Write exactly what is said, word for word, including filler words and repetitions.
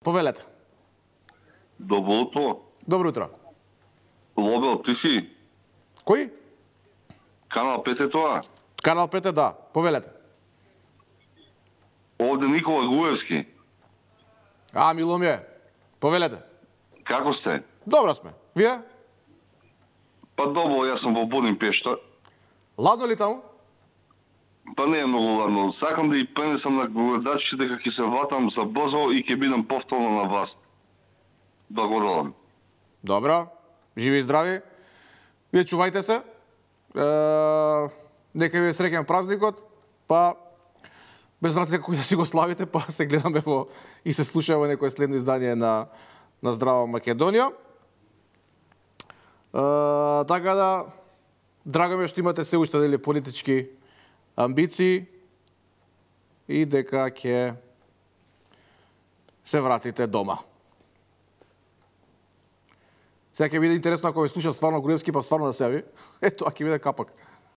Повелете. Добро утро. Добро утро. Лобел, ти си? Кој? Канал пет е тоа? Канал пет е, да. Повелете. Овде Никола Груевски. А, мило ми е. Повелете. Како сте? Добро сме. Вие? Па добро, јас сум во Будимпешта. Ладно ли таму? Па не е многу ладно. Сакам да и пренесам на гледачите дека ќе се ватам за брзо и ќе бидам повторно на вас. Благодарам. Добро. Живи и здрави. Вие чувајте се. Е, нека ви е среќен празникот. Па без разлика кој да си го славите, па се гледаме во и се слушаме во некое следно издание на на Здрава Македонија. Uh, така да, драго ми е што имате се уште дели политички амбиции и дека ќе се вратите дома. Сега ќе биде интересно ако ви слушам стварно Груевски, па стварно да се јави. Ето, а ќе биде капак.